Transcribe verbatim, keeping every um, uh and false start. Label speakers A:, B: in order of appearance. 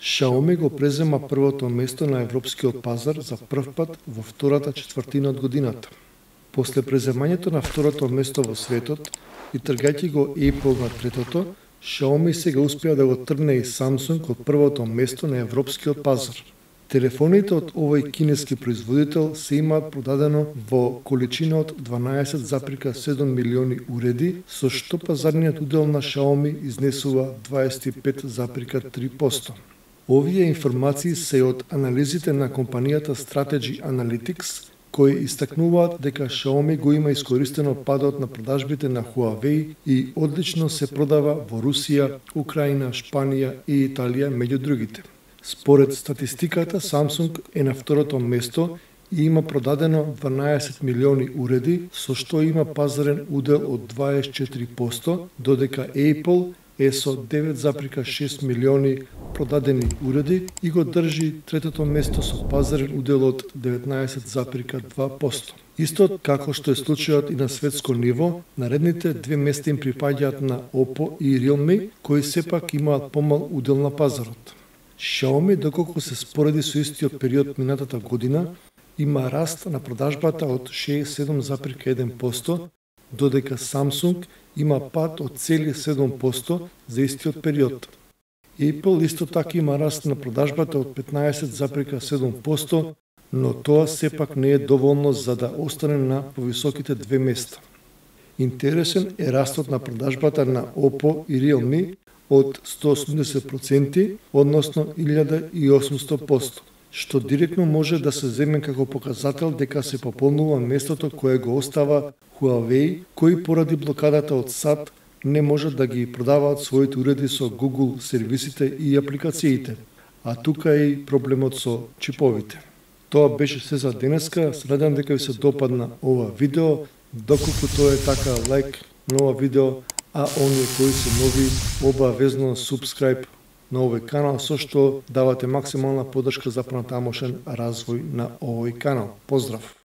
A: Xiaomi го презема првото место на европскиот пазар за прв пат во втората четвртина од годината. После преземањето на второто место во светот и тргајќи го Apple на третото, Xiaomi сега успеа да го тргне и Samsung од првото место на европскиот пазар. Телефоните од овој кинески производител се имаат продадено во количина од дванаесет зарез седум милиони уреди, со што пазарниот удел на Xiaomi изнесува дваесет и пет зарез три проценти. Овие информации се од анализите на компанијата Strategy Analytics, кои истакнуваат дека Xiaomi го има искористено падот на продажбите на Huawei и одлично се продава во Русија, Украина, Шпанија и Италија меѓу другите. Според статистиката, Samsung е на второто место и има продадено дванаесет милиони уреди, со што има пазарен удел од дваесет и четири проценти, додека Apple е со девет зарез шест милиони продадени уреди и го држи третото место со пазарен удел од деветнаесет зарез два проценти. Исто како што е случајот и на светско ниво, наредните две места им припаѓаат на Oppo и Realme, кои сепак имаат помал удел на пазарот. Xiaomi, доколку се спореди со истиот период минатата година, има раст на продажбата од шеесет и седум зарез еден проценти, додека Samsung има пад од цели седум проценти за истиот период. Apple исто така има раст на продажбата од петнаесет зарез седум проценти, но тоа сепак не е доволно за да остане на повисоките две места. Интересен е растот на продажбата на Oppo и Realme од сто и осумдесет проценти, односно илјада и осумсто проценти, што директно може да се земе како показател дека се пополнува местото кое го остава Huawei, кои поради блокадата од САД не можат да ги продаваат своите уреди со Google сервисите и апликациите, а тука е и проблемот со чиповите. Тоа беше се за денеска, се надевам дека ви се допадна ова видео, доколку тоа е така лайк на ова видео, а оние кои се нови обавезно subscribe на овој канал, со што давате максимална поддршка за понатамошен развој на овој канал. Поздрав!